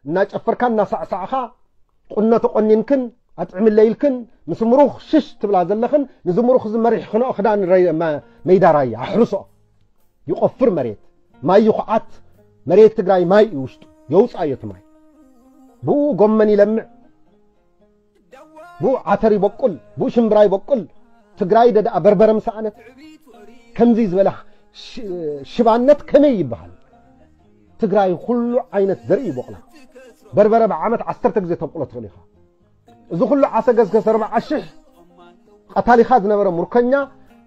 እናጨፈርካ እናሳዕሳዕካ ቁኖ ተቆኒንክን ኣጥዕምለይ ኢልክን ምስ ምሩኽ ሽሽ ትብላ ዘለኽን፣ ንዚ ምሩኽ እዚ መሪሕ ክነኦ ክዳን ረይ-፣ መ-፣ መይዳ ራያ ኣሕርሶ ይቆፍር መሬት ማይ ይኹዓት። መሬት ትግራይ ማይ እዩ ውሽጡ፣ የውፅእ ኣዮ እቲ ማይ። ብኡ ጎመን ይለምዕ፣ ብኡ ዓተር ይበቁል፣ ብኡ ሽምብራ ይበቁል። ትግራይ ደኣ በርበረ ምሰኣነት ከምዚ ዝበለ ሽ-፣ ሽባነት ከመይ ይበሃል? ትግራይ ኩሉ ዓይነት ዘርኢ ይበቁላ። በርበረ ብዓመት ዓሰርተ ግዜ ተብቁሎ ትኽእል ኢኻ። እዚ ኩሉ ዓሰ ገስገስ ኣርባዓ ሽሕ ቀታሊኻ ዝነበረ ሙርከኛ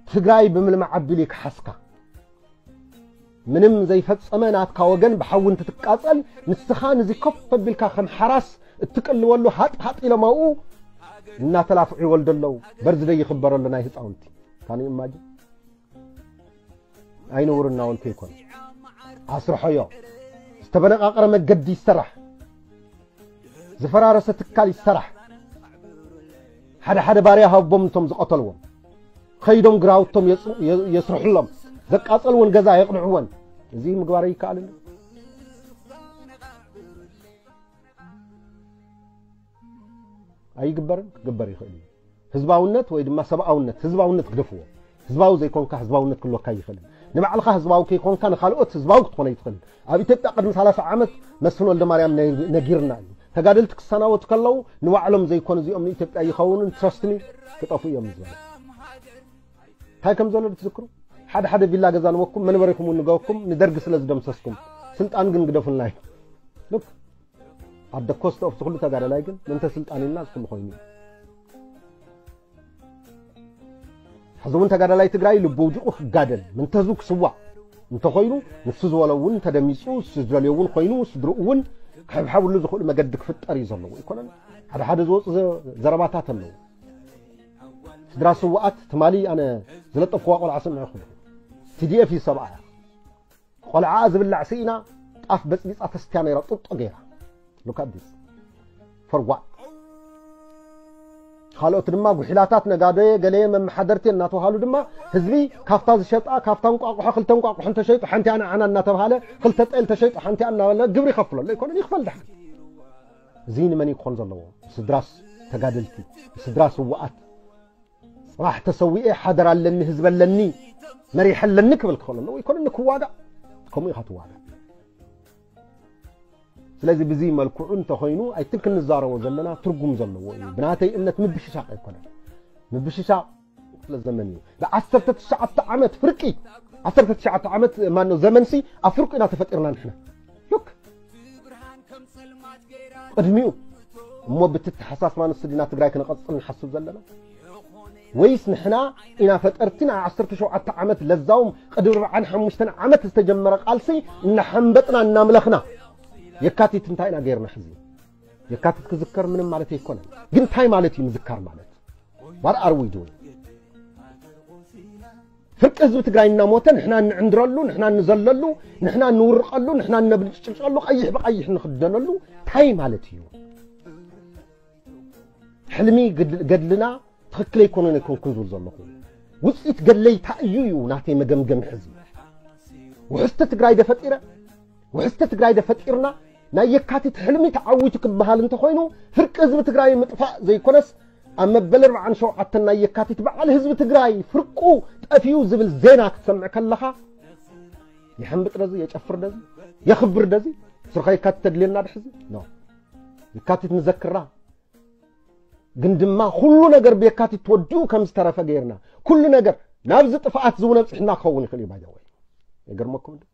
ትግራይ ብምልማዕ ኣቢሉ ይከሓስካ። ምንም ዘይፈጸመ ናትካ ወገን ብሓዊ እንትትቃጸል፣ ንስኻ ንዚ ኮፍ ኣቢልካ ከም ሓራስ እትቅልወሉ ሃጥ ሃጥ ኢሎም ኣብኡ እናተላፍዑ ይወልዱ ኣለዉ። በርዝደይ ይኽበር ኣሎ ናይ ህፃውንቲ። ካን ኢማጅን? ኣይነውርና ወልከ ይኮን። ኣስርሖዮ። ዝተበነቃቀረ መገዲ ይሰራሕ። ዝፈራረሰ ትካል ይሰራሕ። ሓደ ሓደ ባርያ ሃቦም እቶም ዝቐተልዎም። ከይዶም ግራውቶም የጽ-፣ የ-፣ የስርሕሎም። ዘቃጸልወን ገዛ የቕንዕወን። እዚ ምግባር ይከኣልን? ኣይግበርን? ክግበር ይኽእል እዩ። ህዝባውነት ወይ ድማ ሰብኣውነት፣ ህዝባውነት ግደፍዎ። ህዝባዊ ዘይኮንካ ህዝባውነት ክህልወካ ይኽእልን። ንባዕልኻ ህዝባዊ ከይኮንካ ንኻልኦት ህዝባዊ ክትኾን ኣይትኽእልን። ኣብ ኢትዮጵያ ቅድሚ ሰላሳ ዓመት መስፍን ወልደ ማርያም ነ-፣ ነጊርና እዩ። ተጋደልቲ ክሰናበቱ ከለዉ ንባዕሎም ዘይኮኑ እዚኦም ንኢትዮጵያ ይኸውኑን ትረስትኒ ክጠፉ እዮም ዝበሉ። እንታይ ከም ዘሎ ትዝክሩ? ሓደ ሓደ ቪላ ገዛ ንበኩም፣ መንበሪኹም እውን ንገበኩም፣ ንደርጊ ስለ ዝደምሰስኩም። ስልጣን ግን ግደፉልና እዩ። ሉክ፣ ኣደ ኮስት ኦፍ ዝኹሉ ተጋዳላይ ግን ምንተ ስልጣን ኢልና ዝኹሉ ኮይኑ እዩ። ሕዚ እውን ተጋዳላይ ትግራይ ልቡ ውዲቑ ክጋደል፣ ምንተዙ ክስዋእ እንተኾይኑ፣ ንሱ ዝበሎ እውን ተደሚፁ፣ ንሱ ዝደልዮ እውን ኮይኑ፣ ስድርኡ እውን ክሕብሐብሉ ዝኽእሉ መገዲ ክፍጠር እዩ ዘለዎ። ኣይኮነን? ሓደ ሓደ ዝወፁ ዘ-፣ ዘረባታት ኣለዉ። ስድራ ስውኣት ትማሊ ኣነ ዝለጠፍኩዋ ቆልዓ ስምዑ ክብሉ። ቲ ዲ ኤፍ እዩ ሰብኣያ። ቆልዓ ዝብላዕ ስኢና ጣፍ በፅቢፃ ተስትያ ነይራ፣ ጡጦ ገይራ። Look at this. For what? ካልኦት ድማ ጉሒላታት ነጋዶ ገለ መመሓደርቲ እናተባሃሉ ድማ ህዝቢ ካብታ ዝሸጣ፣ ካብታ እንቋቑሖ ክልተ እንቋቑሖ እንተሸይጡ ሓንቲ ኣና ኣና እናተባሃለ፣ ክልተ ጤል ተሸይጡ ሓንቲ ኣና እናበለ ግብሪ ይኸፍለሉ ኣይኮነን? ይኽፈል ደሓን። እዚ ንመን እዩ ክኾን ዘለዎ? ስድራስ ተጋደልቲ፣ ስድራ ስውኣት። ጽባሕ ተሰዊኤ ሓደር ኣለኒ፣ ህዝቢ ኣለኒ፣ መሪሕ ኣለኒ ክብል ክኽእል ኣለዎ። ኣይኮነን ንክዋጋእ፣ ከምኡ ኢኻ ትዋጋእ። ስለዚ ብዚ መልክዑ እንተኾይኑ፣ ኣይትን ክንዛረቦ ዘለና ትርጉም ዘለዎ እዩ። ብናተይ እምነት ምብሽሻቕ ኣይኮነን። ምብሽሻቕ ክፍለ ዘመን እዩ። ብዓሰርተ ትሽዓተ ዓመት ፍርቂ፣ ዓሰርተ ትሽዓተ ዓመት ማነው ዘመንሲ ኣብ ፍርቂ ኢና ተፈጢርና ንሕና። ሉክ፣ ቅድሚኡ እሞ ብትተሓሳስባ ንሱ ዲና ትግራይ ክነቐጽል ንሓስብ ዘለና? ወይስ ንሕና ኢና ፈጠርቲ ናይ ዓሰርተ ሸውዓተ ዓመት ለዛውም ቅድሚ ኣርብዓን ሓሙሽተን ዓመት ዝተጀመረ ቃልሲ እናሓንበጥና እናምለኽና? የካቲት እንታይ ኢና ገይርና ሕዚ? የካቲት ክዝከር ምንም ማለት ኣይኮነን። ግን እንታይ ማለት እዩ ምዝካር ማለት? What are we doing? ፍርቂ ህዝቢ ትግራይ እናሞተ ንሕና እንዕንድረሉ፣ ንሕና እንዘለሉ፣ ንሕና እንውርቐሉ፣ ንሕና እነብልጭልጨሉ፣ ቀይሕ ብቀይሕ እንኽደነሉ እንታይ ማለት እዩ? ሕልሚ ግድ-፣ ገድልና ትኽክል ኣይኮነን ኣይኮንኩን ዝብል ዘለኹ። ውፅኢት ገድለይ እንታይ እዩ እዩ ናተይ መገምገሚ ሕዚ። ውሕስቲ ትግራይ ዶ ፈጢረ? ውሕስቲ ትግራይ ዶ ፈጢርና? ናይ የካቲት ሕልሚ ተዓዊቱ ክበሃል እንተኾይኑ፣ ፍርቂ ህዝቢ ትግራይ ምጥፋእ ዘይኮነስ፣ ኣብ መበል ኣርብዓን ሸውዓተን ናይ የካቲት በዓል ህዝቢ ትግራይ ፍርቁ ጠፊኡ ዝብል ዜና ክትሰምዕ ከለኻ፣ የሐንብጥ ደዚ፣ የጨፍር ደዚ፣ የኽብር ደዚ፣ ስርኻ የካቲት ተድልየና ድሕዚ? ኖ። የካቲት ንዘክራ፣ ግን ድማ ኩሉ ነገር ብየካቲት ተወዲኡ ከም ዝተረፈ ገይርና፣ ኩሉ ነገር ናብዚ ጥፍኣት ዝውን ኣብፅሕና ክኸውን ይኽእል እዩ። ባይዘወይ፣ ይገርመኩም እንዶ?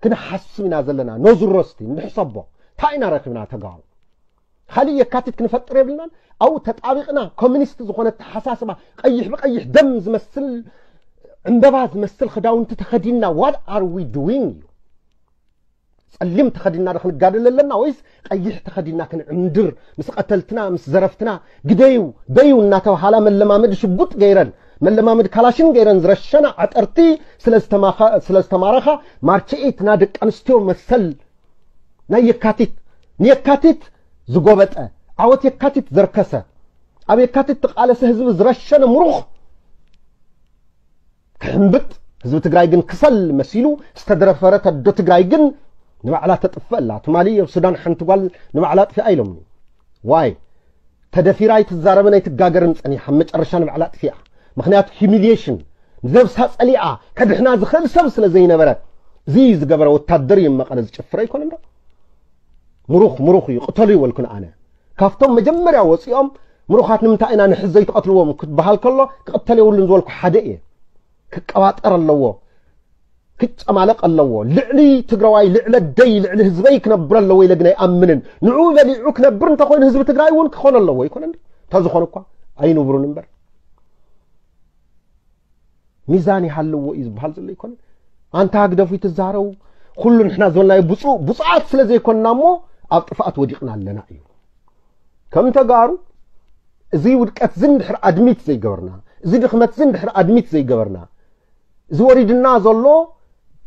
ክንሓስብ ኢና ዘለና። ኖዝሮስቲ ንሕሰቦ፣ እንታይ ኢና ረኺብና ተጋሩ? ካሊእ የካቲት ክንፈጥር የብልናን። ኣብኡ ተጣቢቕና ኮሚኒስት ዝኾነ ኣተሓሳስባ፣ ቀይሕ ብቐይሕ ደም ዝመስል፣ ዕምበባ ዝመስል ክዳውንቲ ተኸዲንና፣ what are we doing እዩ? ጸሊም ተኸዲንና ዶ ክንጋደል ኣለና ወይስ ቀይሕ ተኸዲንና ክንዕምድር፣ ምስ ቀተልትና፣ ምስ ዘረፍትና፣ ግደዩ፣ በዩ እናተባሃላ መለማመዲ ሽጉጥ ገይረን፣ መለማመዲ ካላሽን ገይረን ዝረሸና ዓጠርቲ ስለ ዝተማኻ-፣ ስለ ዝተማረኻ፣ ማርች ኤይት ና ደቂ ኣንስትዮ መሰል ናይ የካቲት፣ ንየካቲት ዝጎበጠ፣ ዓወት የካቲት ዘርከሰ፣ ኣብ የካቲት ተቓለሰ ህዝቢ ዝረሸነ ምሩኽ ክሕምብጥ፣ ህዝቢ ትግራይ ግን ክሰል መሲሉ ዝተደረፈረት ኣዶ ትግራይ ግን ንባዕላ ተጥፍእ ኣላ። ትማሊ ኣብ ሱዳን ሓንቲ ጓል ንባዕላ ኣጥፊኣ ኢሎምኒ። ዋይ? ተደፊራ ኣይትዛረብን ኣይትጋገርን ጸኒሓ፣ መጨረሻ ንባዕላ ኣጥፊኣ። ምኽንያቱ humiliation፣ ንነብሳ ጸሊኣ ከድሕና ዝኽእል ሰብ ስለ ዘይነበረ፣ እዚ ዝገበረ ወታደር እዩ መቐለ ዝጭፍረ ኣይኮነን ዶ? ምሩኽ ምሩኽ እዩ፣ ቅተሉ ይበልኩን ኣነ። ካብቶም መጀመርያ ወፂኦም ምሩኻት ንምንታይ ኢና ንሕዝ ዘይትቐትልዎም ክትበሃል ከሎ፣ ክቕተል የብሉን ዝበልኩ ሓደ እየ። ክቀባጠር ኣለዎ፣ ክጨማለቕ ኣለዎ። ልዕሊ ትግራዋይ፣ ልዕለ ደይ፣ ልዕሊ ህዝበይ ክነብር ኣለዎ ኢለ ግን ኣይኣምንን። ንዕኡ በሊዑ ክነብር እንተኾይኑ ህዝቢ ትግራይ እውን ክኾን ኣለዎ። ይኮነ እንዲ? እንተዝኾነ እኳ ኣይንብሩን እምበር። ሚዛን ይሃልዎ እዩ ዝበሃል ዘሎ ይኮነ። ኣንታ ህግደፉ ይትዛረው፣ ኩሉ ንሕና ዝበልናዮ ብፁ-፣ ብፁዓት ስለ ዘይኮንና እሞ ኣብ ጥፍኣት ወዲቕና ኣለና እዩ። ከም ተጋሩ፣ እዚ ውድቀት ዝን ድሕር ኣድሚት ዘይገበርና፣ እዚ ድኽመት ዝን ድሕር ኣድሚት ዘይገበርና፣ እዚ ወሪድና ዘሎ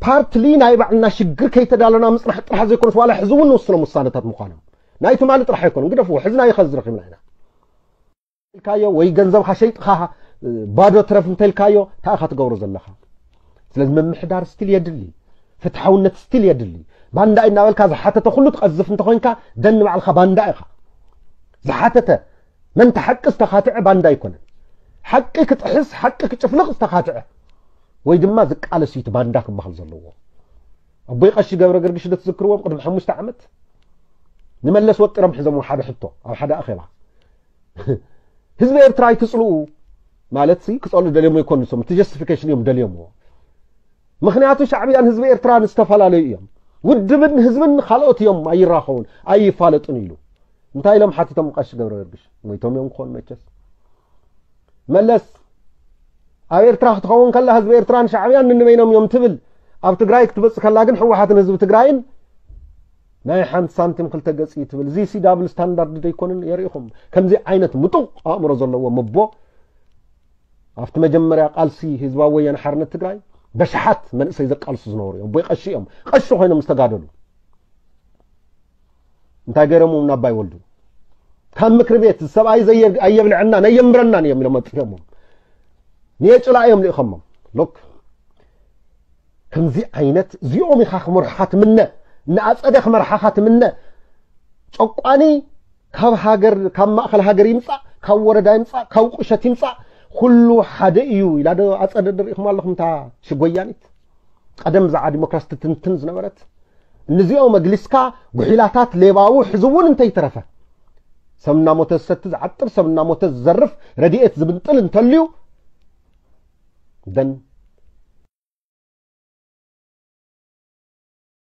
ፓርትሊ ናይ ባዕልና ሽግር ከይተዳለና ምጽናሕ ጥራሕ ዘይኮነስ፣ ዋላ ሕዚ እውን ንውስኖም ውሳነታት ምዃኖም። ናይ ትማሊ ጥራሕ ኣይኮነን፣ ግደፍዎ፣ ሕዚ ናይ ኸዚ ረኺብና ኢና። ኢልካዮ ወይ ገንዘብካ ሸይጥኻ ባዶ ትረፍ እንተ ኢልካዮ፣ እንታይ ኢኻ ትገብሮ ዘለኻ? ስለዚ ምምሕዳር ስቲል የድሊ፣ ፍትሓውነት ስቲል የድሊ። ባንዳ እናበልካ ዝሓተተ ኩሉ ትቐዝፍ እንተኾይንካ፣ ደን ባዕልኻ ባንዳ ኢኻ። ዝሓተተ፣ መን ተሓቂ ዝተኻትዐ ባንዳ ኣይኮነን። ሓቂ ክጥሕስ፣ ሓቂ ክጭፍልቕ ዝተኻትዐ ወይ ድማ ዝቃለስ እዩ እቲ ባንዳ ክበሃል ዘለዎ። ኣቦይ ቀሺ ገብረ ገርግሽ ዶ ትዝክርዎም? ቅድሚ ሓሙሽተ ዓመት ንመለስ ወጢሮም ሒዞም ሓደ ሕቶ ኣብ ሓደ ኣኼባ። ህዝቢ ኤርትራ ኣይትጽልኡ ማለት ሲ ክጸልኡ ደልዮም ኣይኮኑ፣ ንሶም እቲ ጀስቲፊኬሽን እዮም ደልዮምዎ። ምኽንያቱ ሻዕብያን ህዝቢ ኤርትራን ዝተፈላለዩ እዮም። ውድብን ህዝብን ካልኦት እዮም፣ ኣይራኸቡን፣ ኣይፋለጡን ኢሉ። እንታይ ኢሎም ሓቲቶም ቀሺ ገብረ ገርግሽ? ሞይቶም እዮም ክኾኑ መቸስ። መለስ፣ ኣብ ኤርትራ ክትኸውን ከላ ህዝቢ ኤርትራን ሻዕብያን ንንበይኖም እዮም ትብል። ኣብ ትግራይ ክትመጽእ ከላ ግን ህወሓትን ህዝቢ ትግራይን ናይ ሓንቲ ሳንቲም ክልተ ገጽ እዩ ትብል። እዚ ሲ ዳብል ስታንዳርድ ዶ ኣይኮንን? የርእኹም። ከምዚ ዓይነት ምጡቕ ኣእምሮ ዘለዎም ኣቦ ኣብቲ መጀመርያ ቃልሲ ህዝባዊ ወያነ ሓርነት ትግራይ በሽሓት መንእሰይ ዘቃልሱ ዝነበሩ እዮም። ኣቦይ ቀሺ እዮም። ቀሺ ኮይኖም ዝተጋደሉ። እንታይ ገይሮም? ናባይ ወልዱ ካብ ምክሪ ቤት ሰብኣይ ዘየ-፣ ኣየብልዐናን ኣየንብረናን እዮም ኢሎም ኣጥፊኦሞም። ንየጭላ እዮም ልኢኸሞም። ሎክ፣ ከምዚ ዓይነት እዚኦም ኢኻ ክመርሑኻ ትምነ፣ ንኣጸደ ክመርሓኻ ትምነ። ጨቋኒ ካብ ሃገር፣ ካብ ማእከል ሃገር ይምጻእ፣ ካብ ወረዳ ይምጻእ፣ ካብ ቁሸት ይምጻእ፣ ኩሉ ሓደ እዩ ኢላ ዶ ኣጸደ ደሪእኹም ኣለኹም እታ ሽጎያኒት? ቀደም ብዛዕባ ዲሞክራሲ ትትንትን ዝነበረት፣ ንዚኦም ኣግሊስካ ጉሒላታት ሌባዊ ሕዚ እውን እንተይተረፈ፣ ሰብ እናሞተ ዝሰቲ ዝዓጥር፣ ሰብ እናሞተ ዝዘርፍ፣ ረድኤት ዝብንጥል እንተልዩ፣ ደን